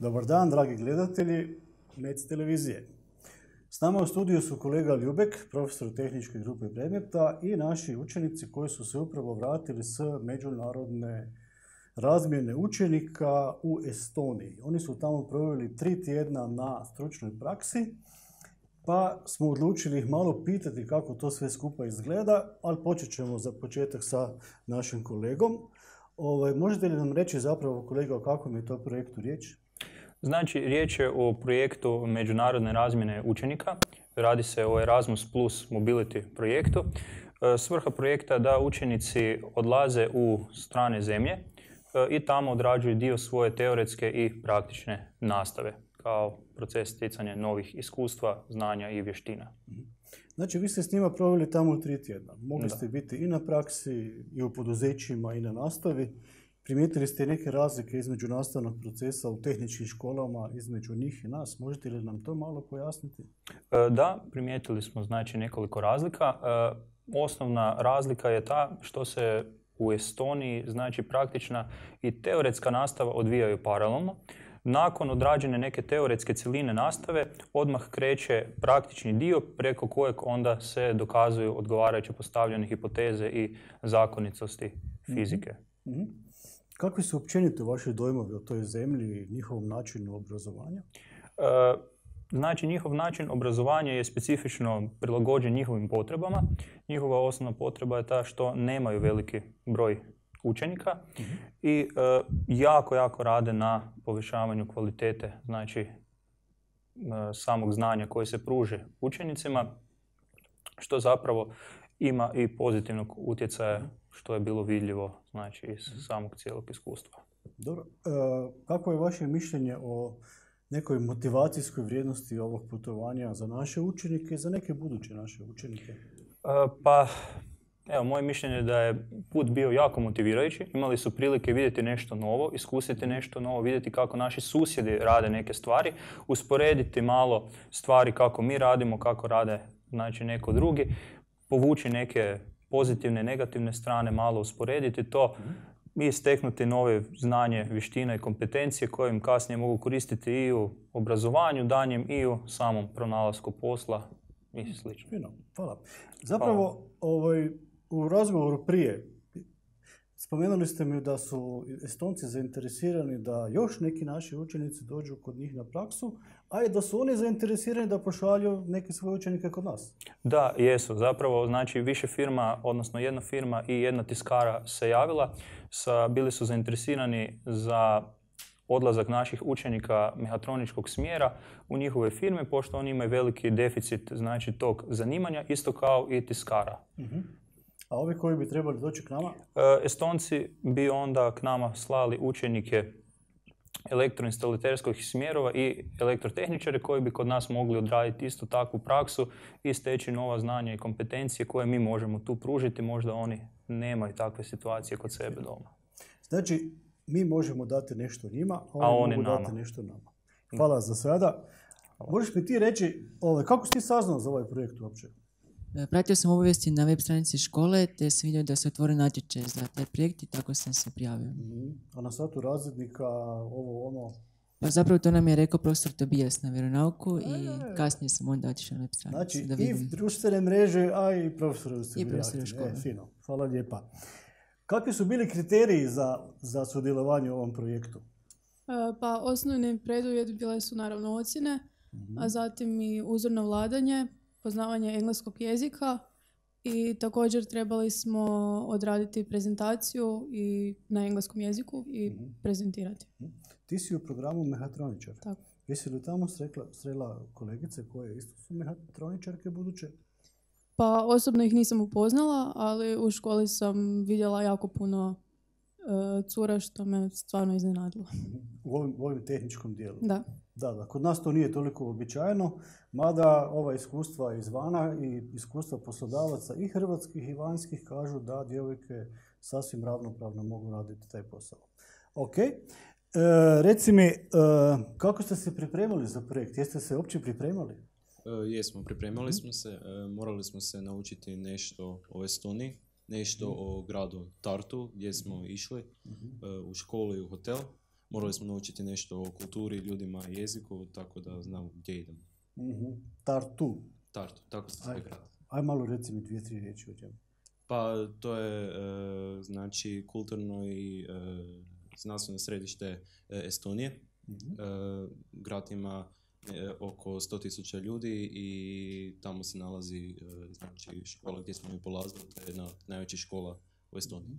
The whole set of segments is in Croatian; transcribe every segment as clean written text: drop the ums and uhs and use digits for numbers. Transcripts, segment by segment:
Dobar dan, dragi gledatelji MEC televizije. S nama u studiju su kolega Ljubek, profesor tehničke grupe predmeta i naši učenici koji su se upravo vratili s međunarodne razmjene učenika u Estoniji. Oni su tamo proveli 3 tjedna na stručnoj praksi, pa smo odlučili ih malo pitati kako to sve skupa izgleda, ali počet ćemo za početak sa našim kolegom. Možete li nam reći zapravo, kolega, o kakvom je to projektu riječ? Znači, riječ je o projektu međunarodne razmjene učenika. Radi se o Erasmus Plus Mobility projektu. Svrha projekta je da učenici odlaze u strane zemlje i tamo odrađuju dio svoje teoretske i praktične nastave kao proces stjecanja novih iskustva, znanja i vještina. Znači, vi ste s njima proveli tamo 3 tjedna. Mogli ste biti i na praksi, i u poduzećima, i na nastavi. Primijetili ste neke razlike između nastavnog procesa u tehničkim školama, između njih i nas. Možete li nam to malo pojasniti? Da, primijetili smo znači nekoliko razlika. Osnovna razlika je ta što se u Estoniji znači praktična i teoretska nastava odvijaju paralelno. Nakon odrađene neke teoretske cjeline nastave, odmah kreće praktični dio preko kojeg onda se dokazuju odgovarajuće postavljene hipoteze i zakonitosti fizike. Kakvi su općenito vaši dojmovi o toj zemlji i njihovom načinu obrazovanja? Znači, njihov način obrazovanja je specifično prilagođen njihovim potrebama. Njihova osnovna potreba je ta što nemaju veliki broj učenika i jako rade na povećavanju kvalitete, znači samog znanja koje se pruže učenicima, što zapravo ima i pozitivnog utjecaja što je bilo vidljivo znači iz samog cijelog iskustva. Dobro. Kako je vaše mišljenje o nekoj motivacijskoj vrijednosti ovog putovanja za naše učenike i za neke buduće naše učenike? Evo, moje mišljenje je da je put bio jako motivirajući. Imali su prilike vidjeti nešto novo, iskusiti nešto novo, vidjeti kako naši susjedi rade neke stvari, usporediti malo stvari kako mi radimo, kako rade znači neko drugi, povući neke pozitivne, negativne strane, malo usporediti to i steknuti nove znanje, vještine i kompetencije koje im kasnije mogu koristiti i u obrazovanju danjem i u samom pronalasku posla i sl. Fino, hvala. Zapravo, u razgovoru prije spomenuli ste mi da su Estonci zainteresirani da još neki naši učenici dođu kod njih na praksu, a i da su oni zainteresirani da pošalju neke svoje učenike kod nas. Da, jesu. Zapravo, znači, više firma, odnosno jedna firma i jedna tiskara se javila. Bili su zainteresirani za odlazak naših učenika mehatroničkog smjera u njihove firme, pošto oni imaju veliki deficit znači, tog zanimanja, isto kao i tiskara. A ovi koji bi trebali doći k nama? Estonci bi onda k nama slali učenike elektroinstalaterskih smjerova i elektrotehničare koji bi kod nas mogli odraditi isto takvu praksu i steći nova znanja i kompetencije koje mi možemo tu pružiti. Možda oni nemaju takve situacije kod sebe doma. Znači, mi možemo dati nešto njima, a oni mogu dati nešto nama. Hvala za sada. Možeš mi ti reći, kako si ti saznao za ovaj projekt uopće? Pratio sam obavijesti na web stranici škole, te sam vidio da se otvori natječaj za taj projekt i tako sam se prijavio. A na satu razrednika, Pa zapravo to nam je rekao profesor Tobijas na vjeronauku i kasnije sam onda otišao na web stranicu. Znači, i društvene mreže, a i profesori su bili aktivni. škole. Fino, hvala lijepa. Kakvi su bili kriteriji za sudjelovanje u ovom projektu? Pa osnovni preduvjet bile su naravno ocjene, a zatim i uzorno vladanje, poznavanje engleskog jezika i također trebali smo odraditi prezentaciju i na engleskom jeziku i prezentirati. Ti si u programu mehatroničar. Tako. Jesi li tamo srela kolegice koje isto su mehatroničarke buduće? Pa osobno ih nisam upoznala, ali u školi sam vidjela jako puno cura što me stvarno iznenadilo. U ovom tehničkom dijelu? Da. Da, kod nas to nije toliko uobičajeno, mada ova iskustva izvana i iskustva poslodavaca i hrvatskih i vanjskih kažu da djevojke sasvim ravnopravno mogu raditi taj posao. Ok, reci mi, kako ste se pripremali za projekt? Jeste se uopće pripremali? Jesmo, pripremali smo se, morali smo se naučiti nešto o Estoniji, nešto o gradu Tartu gdje smo išli u školu i u hotel. morali smo naučiti nešto o kulturi, ljudima, jeziku, tako da znam gdje idemo. Tartu. Tartu, tako se zove grad. Aj malo reci mi 2-3 riječi o čemu. Pa to je znači kulturno i znanstveno središte Estonije. Grad ima oko 100.000 ljudi i tamo se nalazi znači škola gdje smo mi polazili, to je jedna najveća škola u Estoniji.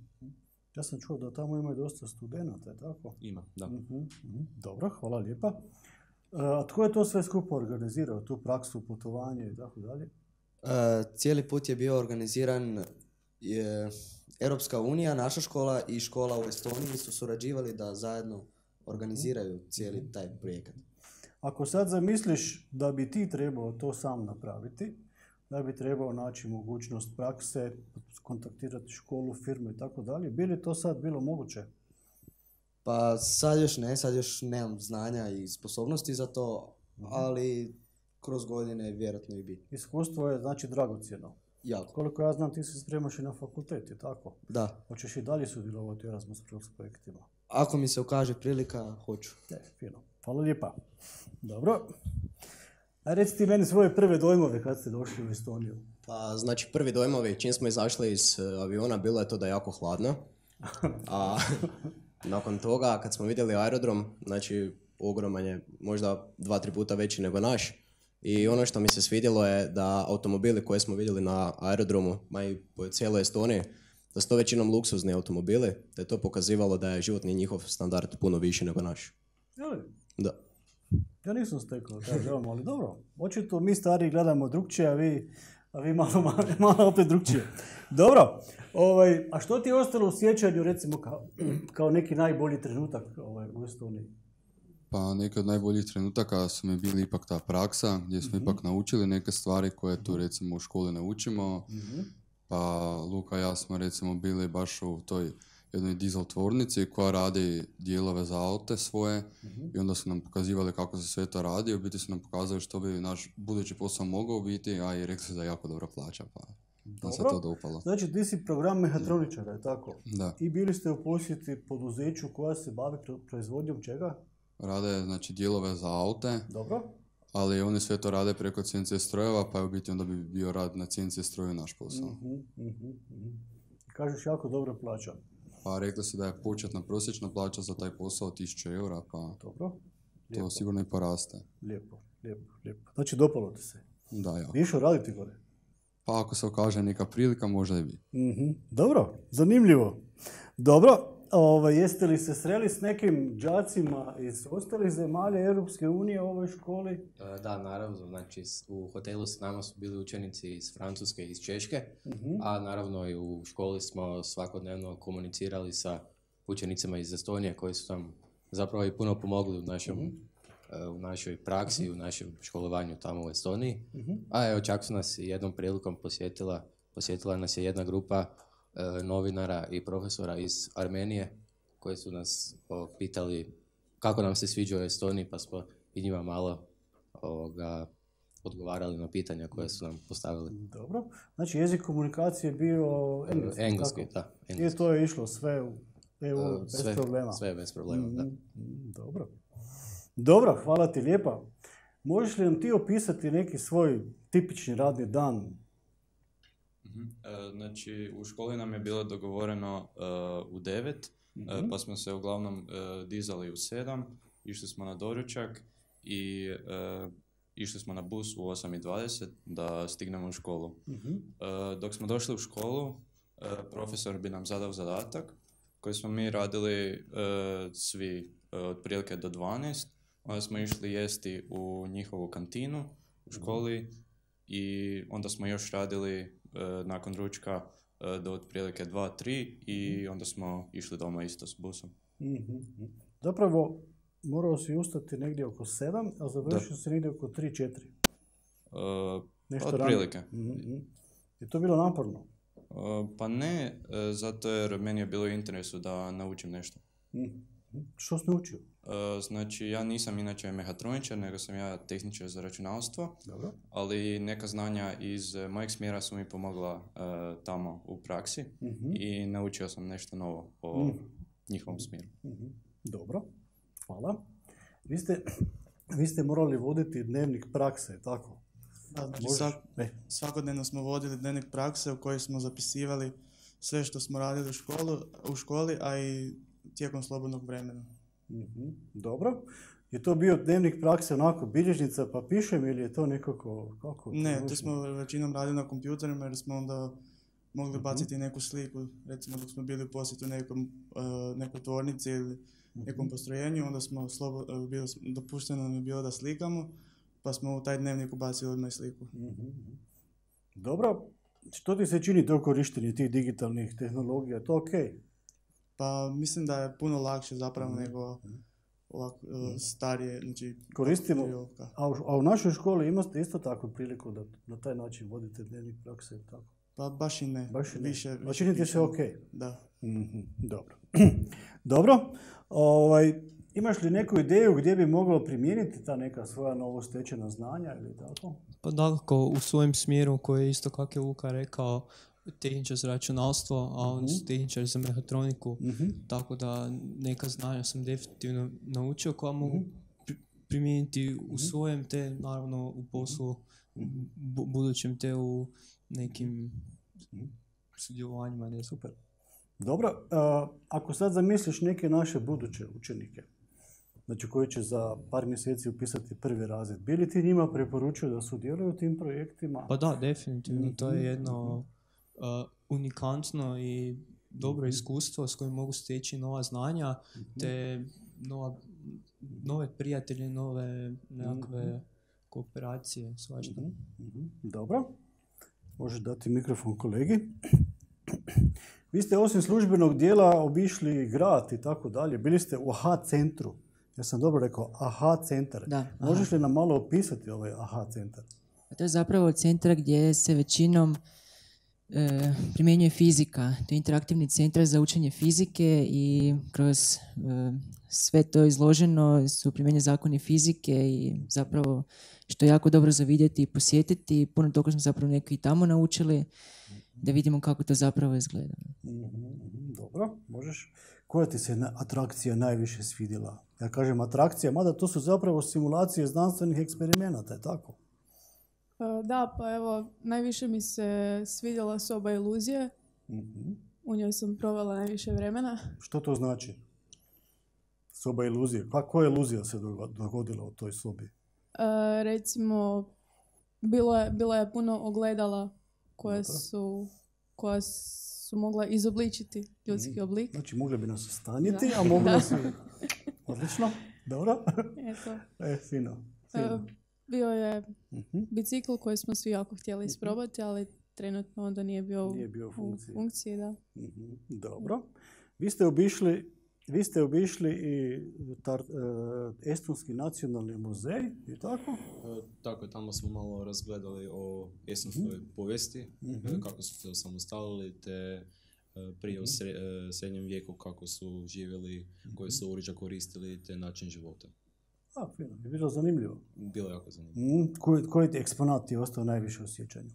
Ja sam čuo da tamo ima dosta studenata, je tako? Ima, da. Dobro, hvala lijepa. A tko je to sve skupo organizirao, tu praksu, putovanje i tako dalje? Cijeli put je bio organiziran Europska unija, naša škola i škola u Estoniji su surađivali da zajedno organiziraju cijeli taj projekat. Ako sad zamisliš da bi ti trebao to sam napraviti, da bi trebao naći mogućnost prakse, kontaktirati školu, firmu i tako dalje, bi li to sad bilo moguće? Pa sad još nemam znanja i sposobnosti za to, ali kroz godine vjerojatno i bi. Iskustvo je znači dragocjeno. Jako. Koliko ja znam, ti se spremaš i na fakultet, je tako? Da. Hoćeš i dalje sudjelovati u Erasmus Plus projektima? Ako mi se ukaže prilika, hoću. Fino. Hvala lijepa. Dobro. A reci ti meni svoje prve dojmove kad ste došli u Estoniju. Pa, znači, prvi dojmovi, čim smo izašli iz aviona, bilo je to da je jako hladno. A nakon toga, kad smo vidjeli aerodrom, znači, ogroman je, možda 2-3 puta veći nego naš. I ono što mi se svidjelo je da automobili koje smo vidjeli na aerodromu, ma i po cijeloj Estoniji, da su to većinom luksuzni automobili, da je to pokazivalo da je životni njihov standard puno viši nego naš. Jeli? Da. Ja nisam stekao taj dojam, ali dobro. Očito mi stari gledamo drugčije, a vi malo opet drugčije. Dobro. A što ti je ostalo u sjećanju, recimo, kao neki najbolji trenutak u Estoniji? Pa neki od najboljih trenutaka su mi bili ipak ta praksa, gdje smo ipak naučili neke stvari koje tu recimo u školi ne učimo. Pa Luka i ja smo recimo bili baš u toj jednoj dizel tvornici koja radi dijelove za aute svoje i onda su nam pokazivali kako se sve to radi. U biti su nam pokazali što bi naš budući posao mogao biti, a i rekli su da je jako dobro plaća, pa nam se to dopalo. Znači ti si program mehatroničara, je tako? Da. I bili ste u posjeti poduzeću koja se bavi proizvodnjom čega? Rade znači dijelove za aute. Dobro. Ali oni sve to rade preko CNC strojeva, pa je u biti onda bi bio rad na CNC stroju naš posao. Kažeš jako dobro plaća. Pa rekli su da je početna prosječna plaća za taj posao 1.000 eura, pa dobro. To sigurno i poraste. Lijepo. Znači dopalo ti se? Da, jako. Bi išao raditi gore? Pa ako se okaže neka prilika, možda i bi. Dobro, zanimljivo. Dobro, jeste li se sreli s nekim đacima iz ostalih zemalja Europske unije u ovoj školi? Da, naravno. Znači, u hotelu s nama su bili učenici iz Francuske i iz Češke, a naravno i u školi smo svakodnevno komunicirali sa učenicima iz Estonije koji su nam zapravo i puno pomogli u našoj praksi, u našem školovanju tamo u Estoniji. A evo, čak su nas i jednom prilikom posjetila nas je jedna grupa novinara i profesora iz Armenije koji su nas pitali kako nam se sviđa u Estoniji, pa smo i njima malo odgovarali na pitanja koje su nam postavili. Dobro. Znači jezik komunikacije je bio engleski. Engleski, da. I to je išlo sve u EU bez problema. Sve bez problema, da. Dobro, hvala ti lijepa. Možeš li nam ti opisati neki svoj tipični radni dan? Znači, u školi nam je bilo dogovoreno u 9, pa smo se uglavnom dizali u 7, išli smo na doručak i išli smo na bus u 8:20 da stignemo u školu. Dok smo došli u školu, profesor bi nam zadao zadatak koji smo mi radili svi otprilike do 12. Onda smo išli jesti u njihovu kantinu u školi i onda smo još radili nakon ručka do otprilike 2-3 i onda smo išli doma isto s busom. Zapravo, morao si ustati negdje oko 7, a završio si negdje oko 3-4. Otprilike. Je to bilo naporno? Pa ne, zato jer meni je bilo u interesu da naučim nešto. Što si naučio? Znači, ja nisam inače mehatroničar, nego sam ja tehničar za računalstvo. Dobro. Ali neka znanja iz mojeg smjera su mi pomogla tamo u praksi i naučio sam nešto novo o njihovom smjeru. Dobro. hvala. Vi ste morali voditi dnevnik prakse, tako? Da, znači svakodnevno smo vodili dnevnik prakse u kojoj smo zapisivali sve što smo radili u školi, a i tijekom slobodnog vremena. Dobro. Je to bio dnevnik prakse onako bilježnica pa pišem ili je to nekako... Kako? Ne, to smo većinom radili na kompjuterima jer smo onda mogli baciti neku sliku, recimo dok smo bili u posjetu nekoj tvornici ili nekom postrojenju, onda smo dopušteno nam je bilo da slikamo, pa smo u taj dnevnik ubacili odmah sliku. Dobro, što ti se čini to korištenje tih digitalnih tehnologija, je to ok? Pa mislim da je puno lakše zapravo nego ovako starije, znači... Koristimo, a u našoj školi imate isto takvu priliku da na taj način vodite dnevnik prakse, tako? Pa baš i ne. Više čini ti se ok? Da. Dobro. Dobro. Imaš li neku ideju gdje bi moglo primijeniti ta neka svoja novostečena znanja ili tako? Pa dakako, u svojem smjeru koji je isto kako je Luka rekao, tehničar za računalstvo, a on su tehničar za mehatroniku, tako da neka znanja sam definitivno naučio koja mogu primijeniti u svojem te, naravno u poslu budućem te u nekim sudjelovanjima. Ne. Super. Dobro, ako sad zamisliš neke naše buduće učenike, znači koji će za par mjeseci upisati prvi razred, bi li ti njima preporučio da sudjeluju u tim projektima? Pa da, definitivno. To je jedno unikantno i dobro iskustvo s kojim mogu steći nova znanja, te nove prijatelje, nove nekakve kooperacije, svašta. Dobro. Možeš dati mikrofon kolegi. Vi ste osim službenog dijela obišli grad i tako dalje. Bili ste u AHA centru. Ja sam dobro rekao, AHA centar. Da, možeš li nam malo opisati ovaj AHA centar? To je zapravo centar gdje se većinom primjenjuje fizika. To je interaktivni centar za učenje fizike i kroz sve to izloženo su primjenjeni zakoni fizike i zapravo što je jako dobro za vidjeti i posjetiti. Puno toga smo zapravo neki i tamo naučili da vidimo kako to zapravo izgleda. Dobro, možeš. Koja ti se atrakcija najviše svidjela? Ja kažem atrakcija, mada to su zapravo simulacije znanstvenih eksperimenata, je tako? Da, pa evo, najviše mi se svidjela soba iluzije. U njoj sam provela najviše vremena. Što to znači? Soba iluzije. Koja iluzija se dogodila u toj sobi? Recimo, bilo je puno ogledala koja su mogla izobličiti ljudski oblik. Znači, mogli bi nas stanjiti, a mogli nas i... Odlično, dobro. Eto. Fino. Bio je bicikl koji smo svi jako htjeli isprobati, ali trenutno onda nije bio u funkciji. Da. Dobro. Vi ste obišli i Estonski nacionalni muzej, i tako? Tako, tamo smo malo razgledali o estonskoj povijesti, kako su se osamostalili, te prije u srednjem vijeku kako su živjeli, koje su oruđa koristili, te način života. Fino. Je bilo zanimljivo? Bilo jako zanimljivo. Koji ti eksponat je ostao najviše u sjećanju?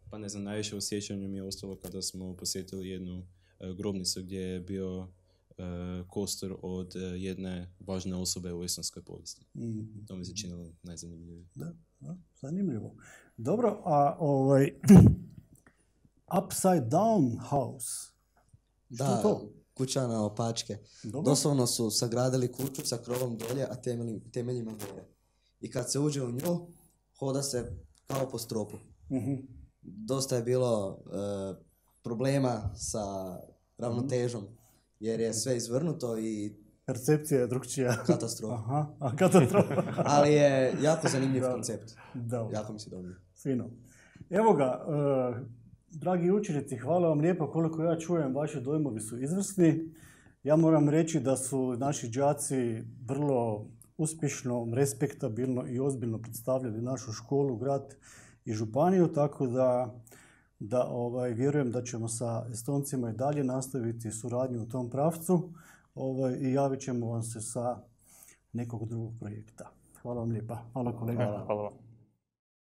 Pa ne znam, najviše u sjećanju mi je ostalo kada smo posjetili jednu grobnicu gdje je bio kostur od jedne važne osobe u estonskoj povijesti. To mi se činilo najzanimljivije. Da, zanimljivo. Dobro, a Upside Down House? Što je to? Kuća na opačke. Doslovno su sagradili kuću sa krovom dolje, a temeljima gore. I kad se uđe u nju, hoda se kao po stropu. Dosta je bilo problema sa ravnotežom, jer je sve izvrnuto i... Percepcija je drugčija. Katastrofa. Katastrofa. Ali je jako zanimljiv koncept. Dobro. Jako mi se dobro. Fino. Evo ga, dragi učenici, hvala vam lijepo. Koliko ja čujem, vaši dojmovi su izvrsni. Ja moram reći da su naši đaci vrlo uspješno, respektabilno i ozbiljno predstavljali našu školu, grad i županiju, tako da vjerujem da ćemo sa Estoncima i dalje nastaviti suradnju u tom pravcu i javit ćemo vam se sa nekog drugog projekta. Hvala vam lijepa. Hvala kolega. Hvala vam.